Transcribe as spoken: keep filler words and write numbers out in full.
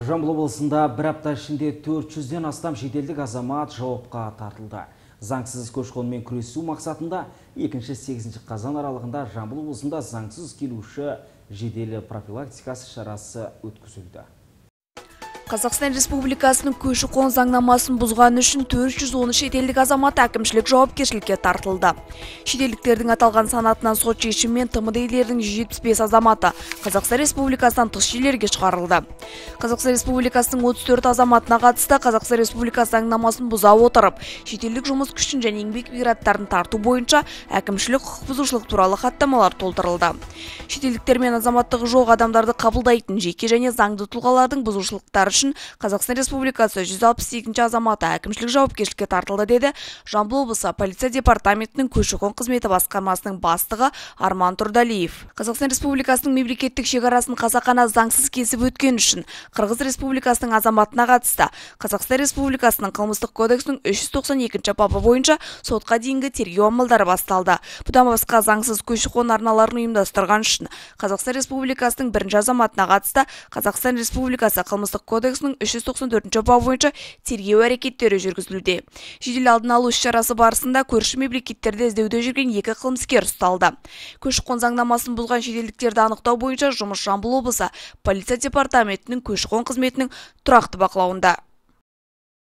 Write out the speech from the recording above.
Жамбыл облысында бір апта ішінде төрт жүзден астам шетелдік азамат жауапқа тартылды. Заңсыз көші-қонмен күресу мақсатында екінші сегізінші қазан аралығында Жамбыл облысында заңсыз келуші жедел профилактикасы шарасы өткізілді. Қазақстан Республикасының көші-қон заңнамасын бұзғаны үшін төрт жүз он шетелдік азамат әкімшілік жауапкершілікке тартылды. Шетелдіктердің аталған санатынан сот шешімімен Т М Д елдердің жүз жетпіс бес азаматы Қазақстан Республикасынан тыс жерлерге шығарылды. Қазақстан Республикасының отыз төрт азаматына қатысты Қазақстан Республикасы заңнамасын бұза отырып, шетелдік жұмыс күшін және еңбек мигранттарын тарту бойынша әкімшілік құқық бұзушылық туралы хаттамалар толтырылды. Шетелдіктер мен азаматтығы жоқ адамдарды қабылдайтын жеке және заңды тұлғалардың бұзушылықтары үшін Қазақстан Республикасы жүз алпыс сегізінші азаматы әкімшілік жауапкершілікке тартылды, деді Жамбыл облысы полиция департаментінің көші-қон қызметі басқармасының бастығы Арман Тұрдалиев. Қазақстан Республикасының мемлекеттік шекарасын қасақана заңсыз кесіп өткен үшін Қырғыз Республикасының азаматына қатысты Қазақстан Республикасының қылмыстық кодексінің үш жүз тоқсан екінші бабы бойынша сотқа дейінгі тергеу амалдары басталды. Бұдан басқа заңсыз көші-қон арналарын ұйымдастырған үшін Қазақстан Республикасының бірінші азаматына қатысты Қазақстан Республикасы қылмыстық кодексінің үш жүз тоқсан төртінші бабы бойынша тергеу әрекеттері жүргізілуде. Жедел алдын алу іс-шарасы барысында көрші мемлекеттерде іздеуде жүрген екі қылмыскер ұсталды. Көші-қон заңнамасын бұзған шетелдіктерді анықтау бойынша жұмыс Жамбыл облысы полиция департаментінің көші-қон қызметінің тұрақты бақылауында.